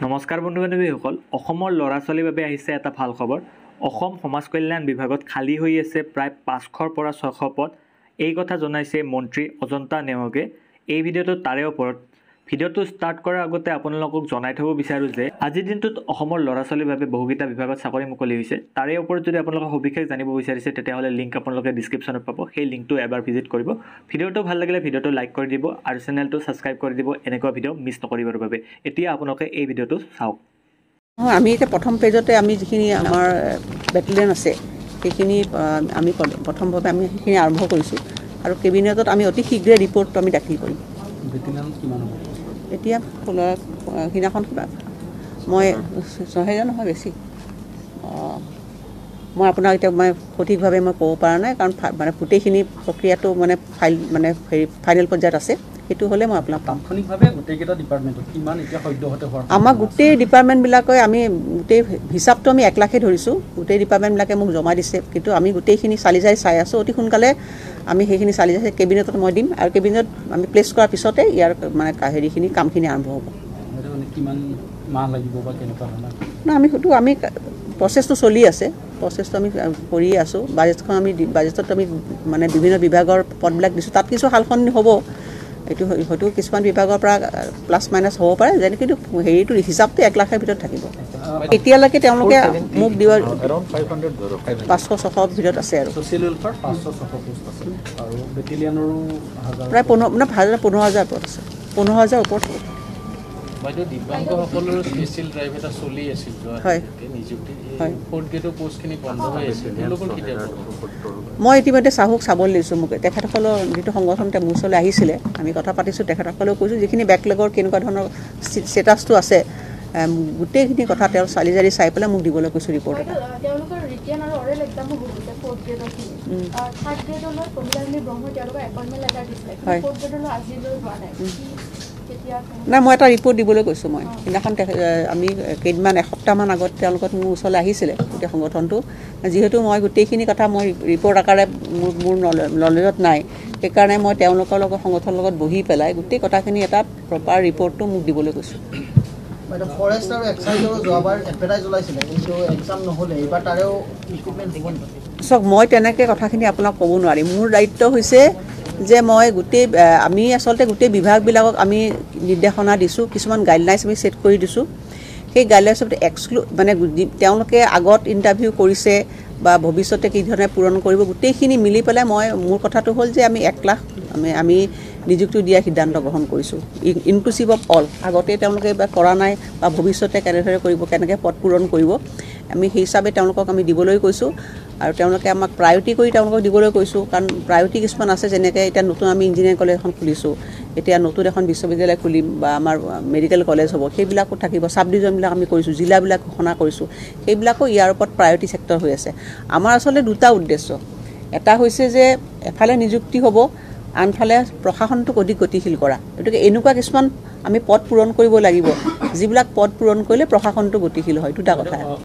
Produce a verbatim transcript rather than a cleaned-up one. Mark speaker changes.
Speaker 1: নমস্কাৰ বন্ধু বান্ধৱীসকল, অসমৰ ল'ৰা ছোৱালীৰ বাবে আহিছে এটা ভাল খবৰ। অসম সমাজ কল্যাণ বিভাগত খালী হৈ আছে প্ৰায় পাঁচশৰ পৰা ছশ পদ। এই কথা জনাইছে মন্ত্ৰী অজন্তা নেওগে। এই ভিডিঅ'টো তাৰে ওপৰত। ভিডিঅ'টো ষ্টাৰ্ট কৰাৰ আগতে আপোনালোকক জনাই থ'ব বিচাৰোঁ যে আজিৰ দিনটোত অসমৰ ল'ৰা ছোৱালীৰ বাবে বহুকেইটা বিভাগত চাকৰি মুকলি হৈছে। তাৰে ওপৰত যদি আপোনালোকে সবিশেষ জানিব বিচাৰিছে, তেতিয়াহ'লে লিংক আপোনালোকে ডিছক্ৰিপশ্যনত পাব, সেই লিংকটো এবাৰ ভিজিট কৰিব। ভিডিঅ'টো ভাল লাগিলে ভিডিঅ'টো লাইক কৰি দিব আৰু চেনেলটো ছাবস্ক্ৰাইব কৰি দিব এনেকুৱা ভিডিঅ' মিছ নকৰিবৰ বাবে। এতিয়া আপোনালোকে এই ভিডিঅ'টো চাওক।
Speaker 2: নহয়, আমি এতিয়া প্ৰথম পেজতে আমি যিখিনি আমাৰ বেটেলিয়ন আছে সেইখিনি আমি প্ৰথমভাৱে আমি সেইখিনি আৰম্ভ কৰিছোঁ আৰু কেবিনেটত আমি অতি শীঘ্ৰে ৰিপৰ্টটো আমি দাখিল কৰিম। এতিয়া সিদিনাখন কিবা মই ছহেজাৰ নহয় বেছি, মই আপোনাক এতিয়া মই সঠিকভাৱে মই ক'ব পৰা নাই, কাৰণ মানে গোটেইখিনি প্ৰক্ৰিয়াটো মানে ফাইল মানে হেৰি ফাইনেল পৰ্যায়ত আছে। সেইটো হ'লে মই আপোনাক পাম। আমাৰ গোটেই ডিপাৰ্টমেণ্টবিলাকে আমি গোটেই হিচাপটো আমি এক লাখেই ধৰিছোঁ। গোটেই ডিপাৰ্টমেণ্টবিলাকে মোক জমা দিছে, কিন্তু আমি গোটেইখিনি চালি জাৰি চাই আছোঁ। অতি সোনকালে আমি সেইখিনি চালি জাৰি কেবিনেটত মই দিম আৰু কেবিনেটত আমি প্লেচ কৰাৰ পিছতে ইয়াৰ মানে হেৰিখিনি কামখিনি আৰম্ভ হ'ব। না, আমি সেইটো আমি প্ৰচেছটো চলি আছে, প্ৰচেছটো আমি কৰিয়ে আছোঁ। বাজেটখন আমি বাজেটত আমি মানে বিভিন্ন বিভাগৰ পদবিলাক দিছোঁ, তাত কিছু সাল সলনি হ'ব। এইটো হয়তো কিছুমান বিভাগৰ পৰা প্লাছ মাইনাছ হ'ব পাৰে যেনে, কিন্তু হেৰিটো হিচাপটো এক লাখৰ ভিতৰত থাকিব। এতিয়ালৈকে তেওঁলোকে মোক দিয়া পাঁচশ ছশ ভিতৰত আছে আৰু প্ৰায় পোন্ধৰ মানে হাজাৰ পোন্ধৰ হাজাৰ ওপৰত আছে, পোন্ধৰ হাজাৰ ওপৰত হ'ব। মই ইতিমধ্যে চাহুক চাবলৈ দিছোঁ। মোক তেখেতসকলৰ যিটো সংগঠন তেওঁ মোৰ ওচৰলৈ আহিছিলে, আমি কথা পাতিছোঁ। তেখেতসকলেও কৈছোঁ যিখিনি বেকলগৰ কেনেকুৱা ধৰণৰ ষ্টেটাছটো আছে গোটেইখিনি কথা তেওঁ চালি জাৰি চাই পেলাই মোক দিবলৈ কৈছোঁ ৰিপৰ্ট এটা। হয়, নাই, মই এটা ৰিপৰ্ট দিবলৈ কৈছোঁ। মই সেইদিনাখন আমি কেইদিনমান এসপ্তাহমান আগত তেওঁলোকত মোৰ ওচৰলৈ আহিছিলে গোটেই সংগঠনটো। যিহেতু মই গোটেইখিনি কথা মই ৰিপৰ্ট আকাৰে মোৰ মোৰ নলেজত নাই, সেইকাৰণে মই তেওঁলোকৰ লগত সংগঠনৰ লগত বহি পেলাই গোটেই কথাখিনি এটা প্ৰপাৰ ৰিপৰ্টটো মোক দিবলৈ কৈছোঁ। চাওক, মই তেনেকৈ কথাখিনি আপোনাক ক'ব নোৱাৰিম। মোৰ দায়িত্ব হৈছে যে মই গোটেই আমি আচলতে গোটেই বিভাগবিলাকক আমি নিৰ্দেশনা দিছোঁ, কিছুমান গাইডলাইনছ আমি ছেট কৰি দিছোঁ। সেই গাইডলাইনছত এক্সক্লু মানে তেওঁলোকে আগত ইণ্টাৰভিউ কৰিছে বা ভৱিষ্যতে কি ধৰণে পূৰণ কৰিব গোটেইখিনি মিলি পেলাই মই মোৰ কথাটো হ'ল যে আমি এক লাখ আমি আমি নিযুক্তি দিয়াৰ সিদ্ধান্ত গ্ৰহণ কৰিছোঁ, ইনক্লুচিভ অফ অল। আগতে তেওঁলোকে বা কৰা নাই বা ভৱিষ্যতে কেনেদৰে কৰিব, কেনেকৈ পদ পূৰণ কৰিব, আমি সেই হিচাপে তেওঁলোকক আমি দিবলৈ কৈছোঁ আৰু তেওঁলোকে আমাক প্ৰায়ৰিটি কৰি তেওঁলোকক দিবলৈ কৈছোঁ। কাৰণ প্ৰায়ৰিটি কিছুমান আছে, যেনেকৈ এতিয়া নতুন আমি ইঞ্জিনিয়াৰিং কলেজ এখন খুলিছোঁ, এতিয়া নতুন এখন বিশ্ববিদ্যালয় খুলিম বা আমাৰ মেডিকেল কলেজ হ'ব, সেইবিলাকো থাকিব। চাব ডিভিজনবিলাক আমি কৰিছোঁ, জিলাবিলাক ঘোষণা কৰিছোঁ, সেইবিলাকো ইয়াৰ ওপৰত প্ৰায়ৰিটি ছেক্টৰ হৈ আছে। আমাৰ আচলতে দুটা উদ্দেশ্য, এটা হৈছে যে এফালে নিযুক্তি হ'ব, আনফালে প্ৰশাসনটোক অধিক গতিশীল কৰা। গতিকে এনেকুৱা কিছুমান আমি পদ পূৰণ কৰিব লাগিব যিবিলাক পদ পূৰণ কৰিলে প্ৰশাসনটো গতিশীল হয়, দুটা কথা।